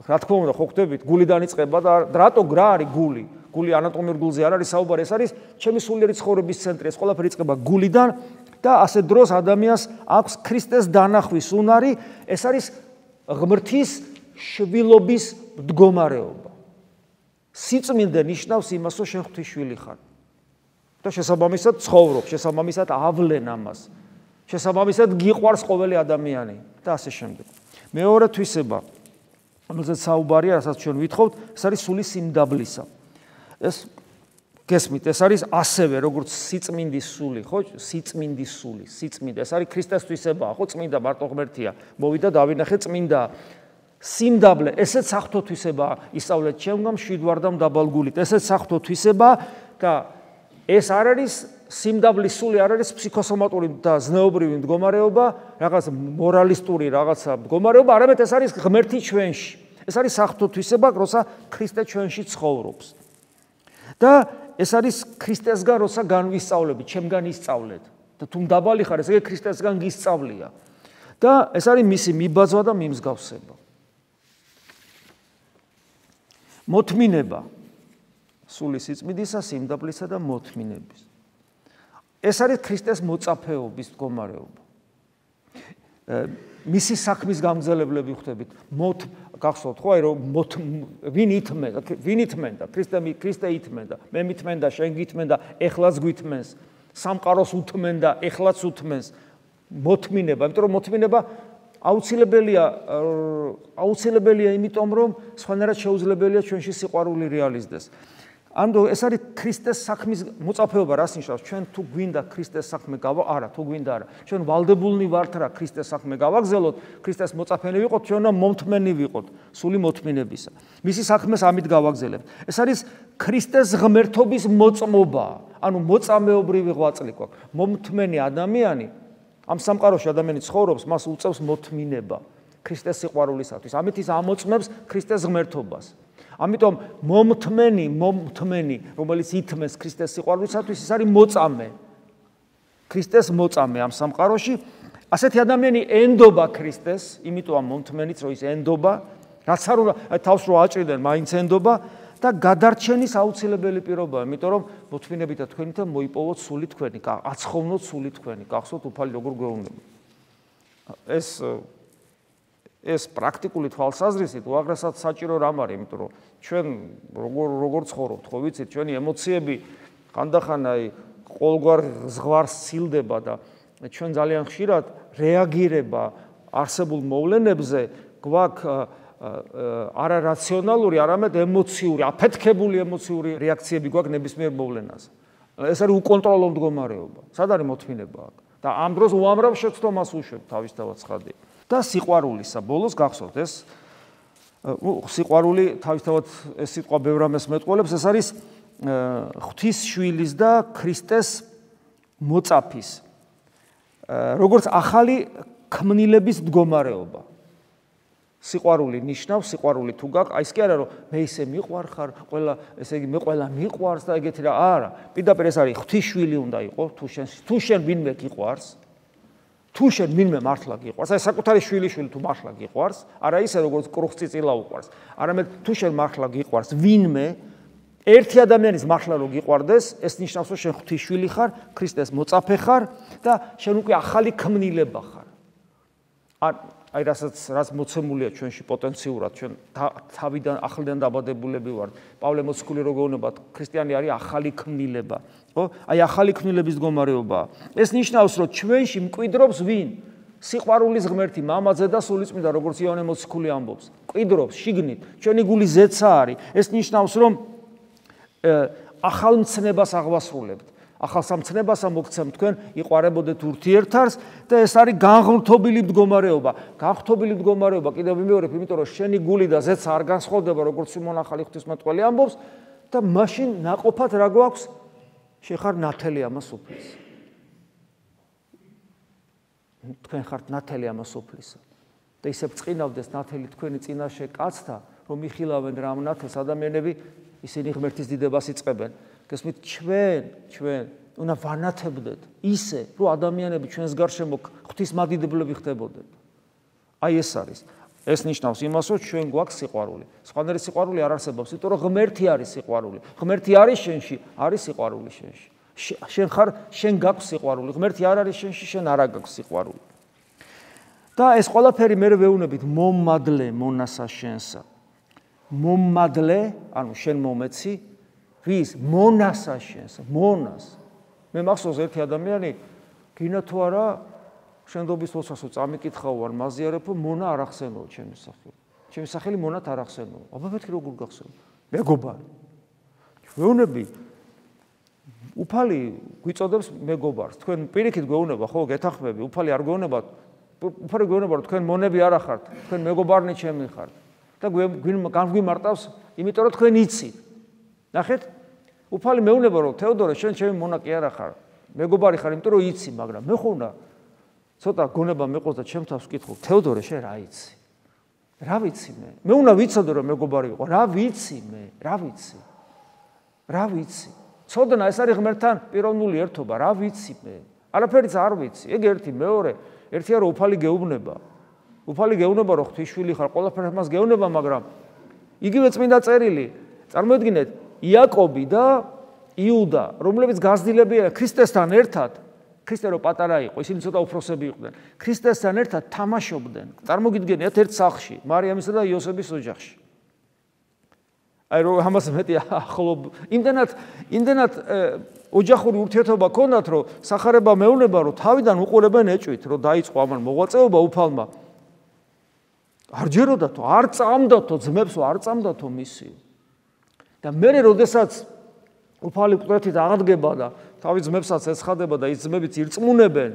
რა თქმა უნდა, ხო ხვდებით, გულიდან იწყება და რატო რა არის გული? გული ანატომიურ გულზე არ არის საუბარი, ეს არის ჩემი სულიერი ცხოვრების ცენტრი. ეს ყველაფერი იწყება გულიდან და ასე დროს ადამიანს აქვს ქრისტეს დანახვის უნარი, ეს არის ღმრთის შვილობის მდგომარეობა. სიწმინდე ნიშნავს იმას, რომ შენ ღვთის შვილი ხარ. და შესაბამისად ცხოვრობ, შესაბამისად ავლენ ამას. შესაბამისად გიყვარს ყოველი ადამიანი და ასე შემდეგ. მეორე თვისება, რომელზეც საუბარია, რასაც ჩვენ ვითხოვთ, ეს არის სული სიმდაბლისა. ეს გესმით, ეს არის ასევე როგორც სიწმინდის სული, ხო? სიწმინდის სული, სიწმინდე. ეს არის ქრისტეს თვისებაა, ხო? წმინდა მარტო ღმერთია. მოვიდა დავინახე წმინდა. სიმდაბლე, ესეც საღვთო თვისებაა. ისწავლეთ ჩემგან მშვიდვარდამ დაბალგულით. ესეც საღვთო თვისებაა და ეს არ არის სიმდაბლის სული, არ არის ფსიქოსომატური და ზნეობრივი მდგომარეობა, რაღაც მორალისტური რაღაცა მდგომარეობა, არამედ ეს არის ღმერთი ჩვენში. ეს არის საღვთო თვისება, როცა ქრისტე ჩვენში ცხოვრობს. და ეს არის ქრისტესგან, როცა განვისწავლებით, ჩემგან ისწავლეთ. და თუ დაბალი ხარ, ესე იგი ქრისტესგან გისწავლია. და ეს არის მისი მიბაძვა და მიმსგავსება. მოთმინება სულის სიწმინდისა, სიმდაბლისა და მოთმინების. ეს არის ქრისტეს მოწაფეობის მდგომარეობა. მისი საქმის გამგზელებლები ხვდებით. გახსოვთ ხო, რომ ვინ ითმენდა, ქრისტე ითმენდა, მე მითმენდა, შენ გითმენდა, ეხლაც გითმენს, სამყაროს უთმენდა, ეხლაც უთმენს. მოთმინება, იმიტომ რომ მოთმინება აუცილებელია იმიტომ, რომ სხვანაირად შეუძლებელია ჩვენში სიყვარული რეალიზდეს. ანუ ეს არის ქრისტეს საქმის მოწაფეობა, რას ნიშნავს? ჩვენ თუ გვინდა ქრისტეს საქმე არა, თუ გვინდა არა. ჩვენ ვალდებულნი ვართ რა ქრისტეს საქმე გავაგზავნოთ, ქრისტეს მოწაფენი ვიყოთ, ჩვენ უნდა მომთმენი ვიყოთ, სული მოთმინებისა. მისი საქმეს ამით გავაგზავნებთ. ეს არის ქრისტეს ღმერთობის მოწმობა, ანუ მოწამეობრივი ღვაწლი გვაქვს. მომთმენი ადამიანი, ამ სამყაროში ადამიანი ცხოვრობს, მას უწევს მოთმინება ქრისტეს სიყვარულისათვის. ამით ის ამოწმებს ქრისტეს ღმერთობას. ამიტომ მომთმენი, რომელიც ითმეს ქრისტეს სიყვარულისათვის, ის არის მოწამე. ქრისტეს მოწამე ამ სამყაროში. ასეთი ადამიანი ენდობა ქრისტეს, იმიტომ მომთმენიც რომ ის ენდობა, რაც არ უნდა თავს რო აჭრიდან, მაინც ენდობა და გადარჩენის აუცილებელი პირობაა, იმიტომ რომ მოთმინებით და თქვენითა მოიპოვოთ სული თქვენი, აცხოვნოთ სული თქვენი, გახსოვთ უფალი როგორ გვეუბნება. ეს პრაქტიკული თვალსაზრისით უაღრესად საჭირო რამ არის, იმიტომ რომ ჩვენ როგორ ცხოვრობთ, ხო ვიცით, ჩვენი ემოციები ხანდახან ყოველგვარ ზღვარს სილდება და ჩვენ ძალიან ხშირად რეაგირება არსებულ მოვლენებზე გვაქვს არარაციონალური, არამედ ემოციური, აფეთქებული ემოციური რეაქციები გვაქვს ნებისმიერ მოვლენაზე. ეს არის უკონტროლო მდგომარეობა. სად არის მოთმინება აქ? და ამ დროს უამრავ შეცდომას უშვებ თავისთავად ცხადია. და სიყვარულისა ბოლოს გახსოვთ ეს სიყვარული თავისთავად ეს სიტყვა ბევრ რამეს მეტყველებს, ეს არის ღვთისშვილის და ქრისტეს მოწაფის როგორც ახალი ქმნილების მდგომარეობა. სიყვარული ნიშნავს, სიყვარული თუ გაქვს, აი ეს კი არა რომ მე ისე მიყვარხარ, ყველა ესე იგი მე ყველა მიყვარს და ეგეთი რა, არა, პირდაპირ ეს არის ღვთისშვილი უნდა იყოს, თუ შენ ვინმე გიყვარს, თუ შენ ვინმე მართლა გიყვარს, აი საკუთარი შვილიშვილი თუ მართლა გიყვარს, არა ისე როგორც კრუხწიწილა უყვარს, არამედ თუ შენ მართლა გიყვარს ვინმე, ერთი ადამიანის მართლა რო გიყვარდეს, ეს ნიშნავს რომ შენ ღვთისშვილი ხარ, ქრისტეს მოწაფე ხარ და შენ უკვე ახალი ქმნილება ხარ. აი რაც მოცემულია ჩვენში პოტენციურად, ჩვენ თავიდან ახლიდან დაბადებულები ვართ. პავლე მოციქული რო გეუბნება, ქრისტიანი არის ახალი ქმნილება, ხო? აი ახალი ქმნილების მდგომარეობაა. ეს ნიშნავს, რომ ჩვენში მკვიდრობს ვინ? სიყვარულის ღმერთი, მამაძე და სულიწმინდა, როგორც იოანე მოციქული ამბობს. მკვიდრობს შიგნით, ჩვენი გული ზეცა არის. ეს ნიშნავს, რომ ახალ მცნებას აღვასრულებთ. ახალ სამცნებასა მოგცემ თქვენ იყარებოდეთ ურთიერთარს და ეს არის განღრთობილი მდგომარეობა. განღრთობილი მდგომარეობა კიდევ ვიმეორებ, იმიტომ რომ შენი გული და ზეცა არ განსხვავდება, როგორც სიმონ ახალი ღვთისმეტყველი ამბობს და მაშინ ნაყოფად რა გვაქვს? შენ ხარ ნათელი ამას უფლის. თქვენ ხართ ნათელი ამას უფლისა. და ისე ბრწყინავდეს ნათელი თქვენი წინაშე კაცთა, რომ იხილავენ რა ამ ნათელს ადამიანები, ისინი ღმერთის დიდებას იწყებენ. გესმით, ჩვენ უნდა ვანათებდეთ ისე, რომ ადამიანები ჩვენს გარშემო ღვთისმადიდებლები ხდებოდნენ. აი ეს არის. ეს ნიშნავს იმას, რომ ჩვენ გვაქვს სიყვარული. სხვანაირი სიყვარული არ არსებობს, იმიტომ რომ ღმერთი არის სიყვარული. ღმერთი არის შენში, არის სიყვარული შენში. შენ გაქვს სიყვარული, ღმერთი არ არის შენში, შენ არ გაქვს სიყვარული. და ეს ყველაფერი მე ვეუბნებით მომადლე მონასა შენსა. მომადლე, ანუ შენ მომეცი ვის მონასა შენს, მონას. მე მახსოვს ერთი ადამიანი, გინა თუ არა, შენდობის ოცასო წამიკითხავ ვარ, მაზიარებო, მონა არ ახსენო ჩემი სახელი. ჩემი სახელი მონათ არ ახსენო. აბა მეთქი როგორ გახსოვ? მეგობარი. ჩვეუნები უფალი გვიწოდებს მეგობარს. თქვენ პირიქით გვეუბნება, ხო, გეთანხმები, უფალი არ გვეუბნება, უფალი გვეუბნება, რომ თქვენ მონები არ ახართ, თქვენ მეგობარნი ჩემი ხართ. და განგვიმარტავს, იმიტომ რომ თქვენ იცით. ნახეთ? უფალი მეუბნება, რომ თეოდორე, შენ ჩემი მონა კი არა ხარ. მეგობარი ხარ, იმიტომ რომ იცი, მაგრამ მე ხო უნდა ცოტა გონება მეყოს და ჩემ თავს ვკითხო, თეოდორე, შენ რა იცი? რა ვიცი მე? მე უნდა ვიცოდე, რომ მეგობარი ვიყო. რა ვიცი მე? რა ვიცი? ცოდნა ეს არის ღმერთთან პიროვნული ერთობა, რა ვიცი მე? არაფერიც არ ვიცი. ეგ ერთი, მეორე, ერთია რომ უფალი გეუბნება. უფალი გეუბნება, რომ ღვთისშვილი ხარ, ყველაფერს მას გეუბნება, მაგრამ იგივე წმინდა წერილი, წარმოიდგინეთ, იაკობი და იუდა, რომლებიც გაზრდილებია ქრისტესთან ერთად, ქრისტე რო პატარა იყო, ისინი ცოტა უფროსები იყვნენ. ქრისტესთან ერთად თამაშობდნენ. წარმოგიდგენიათ ერთ სახლში, მარიამისა და იოსების ოჯახში. აი რომ ამას მეტი ახლობ, იმდენად ოჯახური ურთიერთობა ქონდათ, რომ სახარება მეუბნება, რომ თავიდან უყურებენ ეჭვით, რომ დაიწყო ამან მოღვაწეობა უფალმა. არ ჯეროდათო, არ წამდათო ძმებსო, არ წამდათო მისიო. და მე როდესაც უფალი მკვდრეთით აღდგება და თავის ძმებსაც ეცხადება და ის ძმებიც ირწმუნებენ,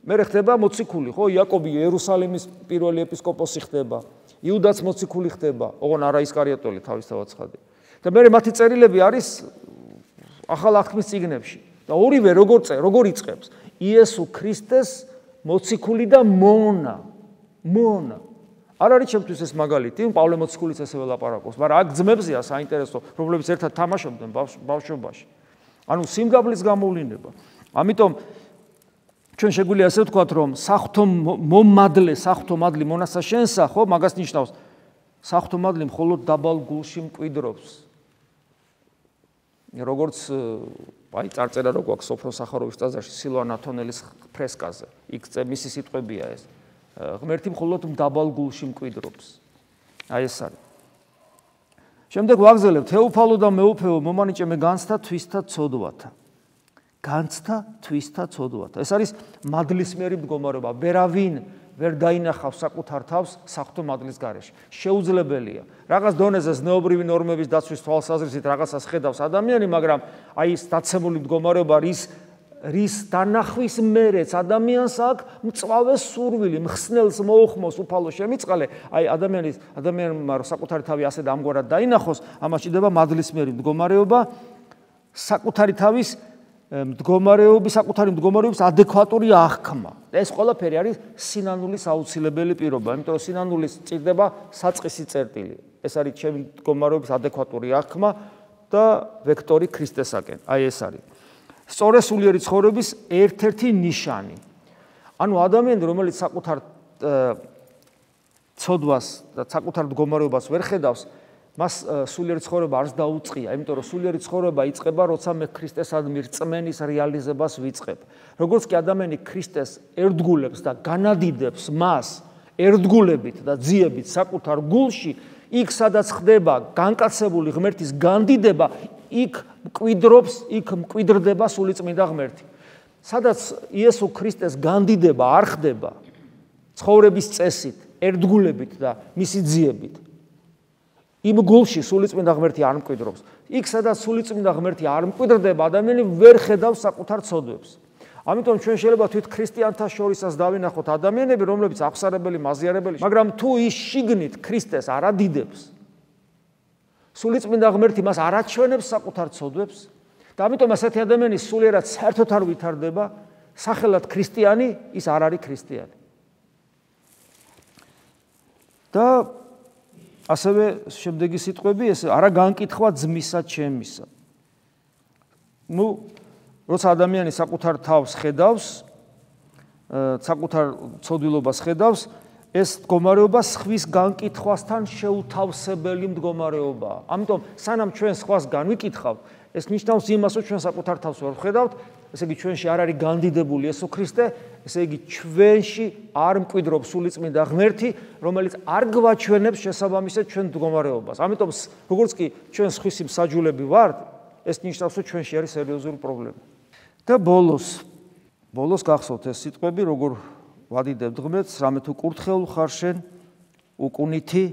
მე ხდება მოციქული, ხო, იაკობი იერუსალიმის პირველი ეპისკოპოსი ხდება, იუდაც მოციქული ხდება, ოღონ არა ისკარიოტელი თავისთავად ცხადია. და მე მათი წერილები არის ახალ აღთქმის წიგნებში. და ორივე როგორ იწყებს? იესო ქრისტეს მოციქული და მონა. არ არის ჩემთვის ეს მაგალითი, პავლე მოციქულიც ესე ველაპარაკობს, მაგრამ აქ ძმებზეა საინტერესო, რომლებიც ერთად თამაშობდნენ ბავშვობაში. ანუ სიმგაბლის გამოვლინება. ამიტომ ჩვენ შეგვიძლია ასე ვთქვათ, რომ საღვთო მადლი მონასა შენსა, ხო, მაგას ნიშნავს. საღვთო მადლი მხოლოდ დაბალ გულში მკვიდრობს. როგორც აი წარწერა რო გვაქვს სოფრო სახაროვის ტაძარში სილვან ათონელის ფრესკაზე. იქ მისი სიტყვებია ეს. ღმერთი მხოლოდ დაბალ გულში მკვიდრობს. აი ეს არის. შემდეგ ვაგზელებ თეოფალო და მეუფეო მომანიჭე მე განცდა თვისთა ცოდვათა. ეს არის მადლისმიერი მდგომარეობა. ვერავინ ვერ დაინახავს საკუთარ თავს საღვთო მადლის გარეშე. შეუძლებელია. რაღაც დონეზე ზნეობრივი ნორმების დაცვის თვალსაზრისით რაღაცას ხედავს ადამიანი, მაგრამ აი ეს დაცემული მდგომარეობა რის დანახვის მერეც ადამიანს აქვს მწვავე სურვილი, მხსნელს მოუხმოს უფალო შემიწყალე, აი ადამიანმა საკუთარი თავი ასე და ამგვარად დაინახოს, ამას ჭირდება მადლისმიერი მდგომარეობა, საკუთარი მდგომარეობის ადეკვატური აღქმა. ეს ყველაფერი არის სინანულის აუცილებელი პირობა, იმიტომ რომ სინანულის ჭირდება საწყისი წერტილი. ეს არის ჩემი მდგომარეობის ადეკვატური აღქმა და ვექტორი ქრისტესაკენ. აი ეს არის. სწორი სულიერი ცხოვრების ერთ-ერთი ნიშანი. ანუ ადამიანი, რომელიც საკუთარ ცოდვას და საკუთარ მდგომარეობას ვერ ხედავს, მას სულიერი ცხოვრება არც დაუწყია, იმიტომ რომ სულიერი ცხოვრება იწყება, როცა მე ქრისტესადმი რწმენის რეალიზებას ვიწყებ. როგორც კი ადამიანი ქრისტეს ერთგულებს და განადიდებს მას ერთგულებით და ძიებით საკუთარ გულში, იქ სადაც ხდება განკაცებული ღმერთის განდიდება, იქ მკვიდრდება სულიწმინდა ღმერთი. სადაც იესო ქრისტეს განდიდება არ ხდება ცხოვრების წესით, ერთგულებით და მისი ძიებით, იმ გულში სულიწმინდა ღმერთი არ მკვიდრობს. იქ სადაც სულიწმინდა ღმერთი არ მკვიდრდება, ადამიანი ვერ ხედავს საკუთარ ცოდვებს. ამიტომ ჩვენ შეიძლება თვით ქრისტიანთა შორისაც დავინახოთ ადამიანები, რომლებიც აღსარებელი, მაზიარებელი, მაგრამ თუ ის შიგნით ქრისტეს არ ადიდებს, სულიწმინდა ღმერთი მას არ აჩვენებს საკუთარ ცოდვებს და ამიტომ ასეთი ადამიანი სულიერად საერთოდ არ ვითარდება, სახელად ქრისტიანი, ის არ არის ქრისტიანი. და ასევე შემდეგი სიტყვები ეს არა განკითხვა ძმისა ჩემისა. როცა ადამიანი საკუთარ თავს ხედავს, საკუთარ ცოდვილობას ხედავს, ეს მდგომარეობა სხვის განკითხვასთან შეუთავსებელი მდგომარეობაა. ამიტომ სანამ ჩვენ სხვას განვიკითხავთ, ეს ნიშნავს იმას, რომ ჩვენ საკუთარ თავს ვერ ვხედავთ, ესე იგი ჩვენში არ არის განდიდებული იესო ქრისტე, ესე იგი ჩვენში არ მკვიდრობს სულიწმინდა ღმერთი, რომელიც არ გვაჩვენებს შესაბამისად ჩვენ მდგომარეობას. ამიტომ როგორც კი ჩვენ სხვისი მსაჯულები ვართ, ეს ნიშნავს, რომ ჩვენში არის სერიოზული პრობლემა. და ბოლოს გახსოვთ ეს სიტყვები, როგორ ვადიდებთ ღმერთს, რამე თუ კურთხეულ ხარ შენ, უკუნითი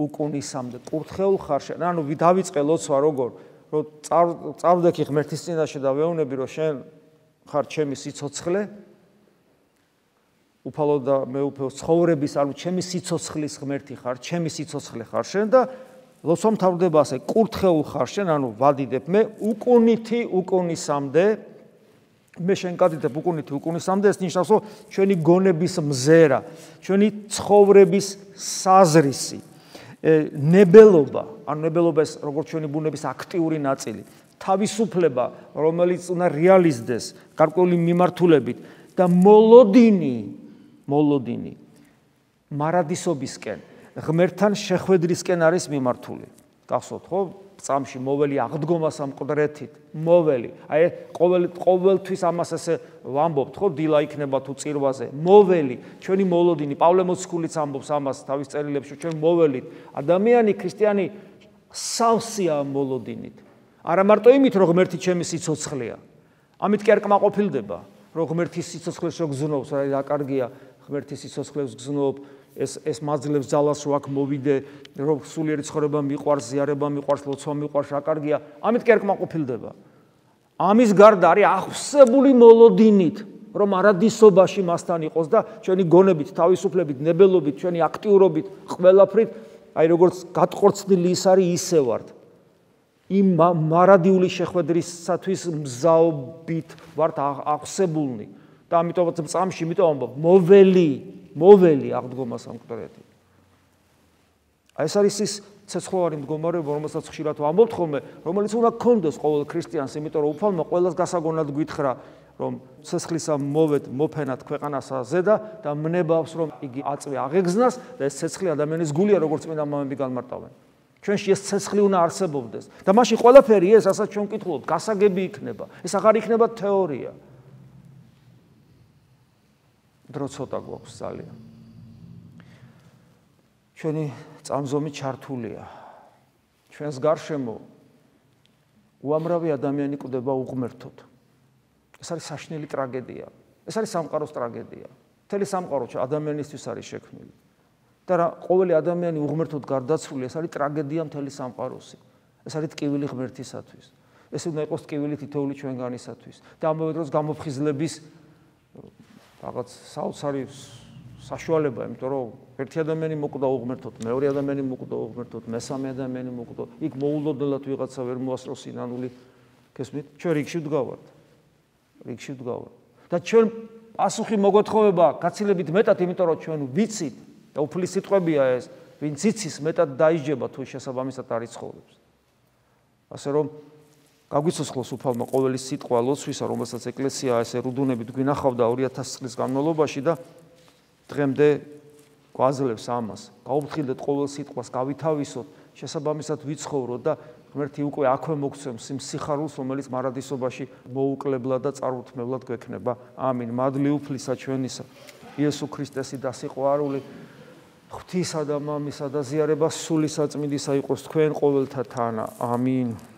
უკუნისამდე. კურთხეულ ხარ შენ. ანუ დავიწყე ლოცვა როგორ, რომ წავდექი ღმერთის წინაშე და ვეუბნები, რომ შენ ხარ ჩემი სიცოცხლე, უფალო და მეუფეო ცხოვრების, ანუ ჩემი სიცოცხლის ღმერთი ხარ, ჩემი სიცოცხლე ხარ შენ და ლოცვა მთავრდება ასე, კურთხეულ ხარ შენ, ანუ ვადიდებ მე უკუნითი უკუნისამდე. მე შენ კადიდებ უკუნითი უკუნისამდე, ეს ნიშნავს, რომ ჩვენი გონების მზერა, ჩვენი ცხოვრების საზრისი, ნებელობა, ანუ ნებელობა ეს როგორც ჩვენი ბუნების აქტიური ნაწილი, თავისუფლება, რომელიც უნდა რეალიზდეს გარკვეული მიმართულებით და მოლოდინი მარადისობისკენ, ღმერთთან შეხვედრისკენ არის მიმართული. გახსოვთ, ხო? წამში მოველი აღდგომა სამყდრეთით, მოველი. აი ყოველთვის ამას ესე ვამბობთ, ხო, დილა იქნება თუ წირვაზე. მოველი, ჩვენი მოლოდინი, პავლე მოციქულიც ამბობს ამას თავის წერილებში, ჩვენ მოველით. ადამიანი, ქრისტიანი სავსეა მოლოდინით. არა მარტო იმით, რომ ღმერთი ჩემი სიცოცხლეა. ამით კი არ კმაყოფილდება, რომ ღმერთის სიცოცხლეს შეგზნობს, რა კარგია, ღმერთის სიცოცხლეს გზნობ, ეს მაძლევს ძალას რო აქ მოვიდე, რომ სულიერი ცხოვრება მიყვარს, ზიარება მიყვარს, ლოცვა მიყვარს, რა კარგია. ამით კი არ კმაყოფილდება. ამის გარდა არის ახსებული მოლოდინით, რომ არადისობაში მასთან იყოს და ჩვენი გონებით, თავისუფლებით, ნებელობით, ჩვენი აქტიურობით, ყველაფრით, აი როგორც გატყორცნილი ის არის, ისე ვართ. იმ მარადიული შეხვედრისათვის მზაობით ვართ აღსებულნი და ამიტომაც წამში იმიტომ ამბობ მოველი აღდგომა სამკვდრეთი. აი ეს არის ის ცეცხლოვანი მდგომარეობა, რომელსაც ხშირად ვამბობთ ხოლმე, რომელიც უნდა გქონდეს ყოველ ქრისტიანს, იმიტომ რომ უფალმა ყველას გასაგონად გითხრა, რომ ცეცხლისა მოვედ მოფენად ქვეყანასა ზედა და მნებავს რომ იგი აწვე აღეგზნას და ეს ცეცხლი ადამიანის გულია, როგორც წმინდა მამები განმარტავენ. ჩვენში ეს ცეცხლი უნდა არსებობდეს და მაშინ ყველაფერი ეს, რასაც ჩვენ ვკითხულობთ, გასაგები იქნება. ეს აღარ იქნება თეორია. დრო ცოტა გვაქვს ძალიან. ჩვენი წამზომი ჩართულია. ჩვენს გარშემო უამრავი ადამიანი კვდება უღმერთოდ. ეს არის საშინელი ტრაგედია. ეს არის სამყაროს ტრაგედია. მთელი სამყარო ადამიანისთვის არის შექმნილი. და რა ყოველი ადამიანი უღმერთოდ გარდაცვლილი, ეს არის ტრაგედია მთელი სამყაროსი. ეს არის ტკივილი ღმერთისათვის. ეს უნდა იყოს ტკივილი თითოეული ჩვენგანისათვის. და ამავე დროს გამოფხიზლების რაღაც საოცარი საშუალება, იმიტომ რომ ერთი ადამიანი მოკვდა უღმერთოდ, მეორე ადამიანი მოკვდა უღმერთოდ, მესამე ადამიანი მოკვდა. იქ მოულოდნელად ვიღაცა ვერ მოასწროს სინანული. გესმით? ჩვენ რიგში ვდგავართ. და ჩვენ პასუხი მოგვეთხოვება გაცილებით მეტად, იმიტომ რომ ჩვენ ვიცით და უფლის სიტყვებია ეს, ვინც იცის მეტად დაიჯება თუ შესაბამისად არის ცხოვრობს. ასე რომ გაგვიცოცხლოს უფალმა ყოველი სიტყვა ლოცვისა, რომელსაც ეკლესია ესე რუდუნებით გვინახავდა 2000 წლის განმავლობაში და დღემდე გვაძლევს ამას. გაუფრთხილდეთ ყოველ სიტყვას, გავითავისოთ, შესაბამისად ვიცხოვროთ და ღმერთი უკვე აქვე მოგცემს იმ სიხარულს, რომელიც მარადისობაში მოუკლებლად და წარუთმებლად გვექნება. ამინ. მადლი უფლისა ჩვენისა, იესო ქრისტესი და სიყვარული ღვთისა და მამისა და ზიარება სული საწმინდისა იყოს თქვენ ყოველთა თანა. ამინ.